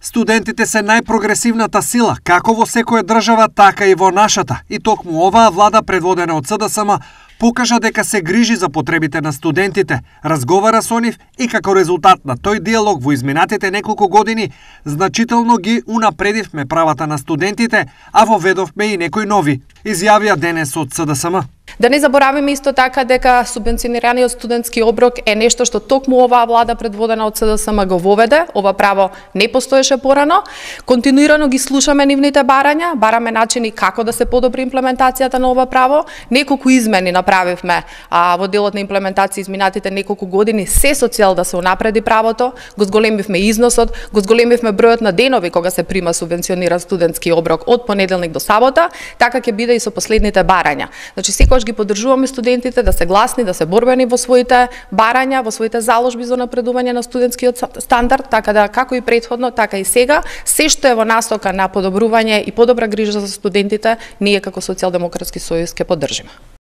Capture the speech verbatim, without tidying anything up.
Студентите се најпрогресивната сила, како во секоја држава, така и во нашата. И токму оваа влада, предводена од СДСМ, покажа дека се грижи за потребите на студентите, разговара со нив и како резултат на тој диалог во изминатите неколку години, значително ги унапредивме правата на студентите, а воведовме и некои нови, изјавија денес од СДСМ. Да не забораваме исто така дека субвенционираниот студентски оброк е нешто што токму оваа влада предводена од СДСМ го воведе. Ова право не постоеше порано. Континуирано ги слушаме нивните барања, бараме начини како да се подобри имплементацијата на ова право. Неколку измени направивме а, во делот на имплементација изминатите неколку години, се со цел да се унапреди правото. Го зголемивме износот, го зголемивме бројот на денови кога се прима субвенциониран студентски оброк од понеделник до сабота, така ќе биде и со последните барања. Значи секогаш ги поддржуваме студентите да се гласни, да се борбени во своите барања, во своите заложби за напредување на студентскиот стандард, така да како и претходно, така и сега, се што е во насока на подобрување и подобра грижа за студентите, ние како Социјалдемократски сојуз ќе поддржиме.